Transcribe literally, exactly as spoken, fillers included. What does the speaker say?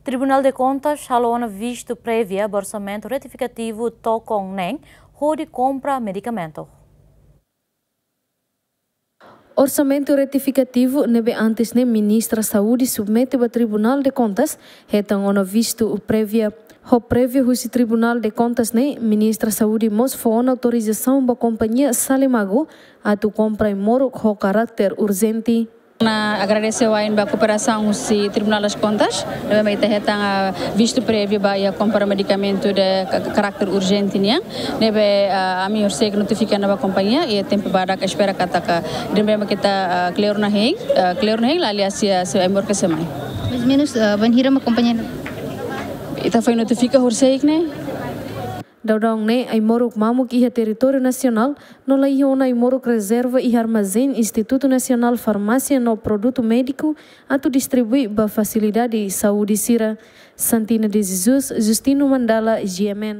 Tribunal de Contas halo ona vistu prévia ba orsamentu retifikativu Tokon neen hodi kompra medikamentu. Orsamentu retifikativu ne'ebé antes ne'e Ministra Saúde submete ba Tribunal de Contas hetan ona vistu prévia. Ho prévia husi Tribunal de Contas ne'e, Ministra Saúde mós fó ona autorizasaun ba kompañia Salemago atu kompra ai-moruk ho karáter urjente. Ha'u agradese wa'in ba kooperasaun husi Tribunal das Contas, ne'ebé ita hetan, ah, vistu prévia ba iha kompra medikamentu de ka-, karáter urjente nian, ne'ebé, ah, ami horiseik notifika ona ba kompañia, i tempu badak espera katak, ne'ebé ita, ah, kleur ona hein, ah, kleur ona hein, la lia sia, sia ai-moruk sei mai. Mais ou menos, ah, bainhira mak kompañia? Ita foin notifika horiseik ne'e. Daudaun ne'e ai-moruk mamuk iha territóriu nasionál, no la iha ona ai-moruk rezerva iha armazén Instituto Nacional Farmácia no Produto Médico atu distribui ba fasilidade saúde sira. Santina de Jesus, Justino Mandala, G M N.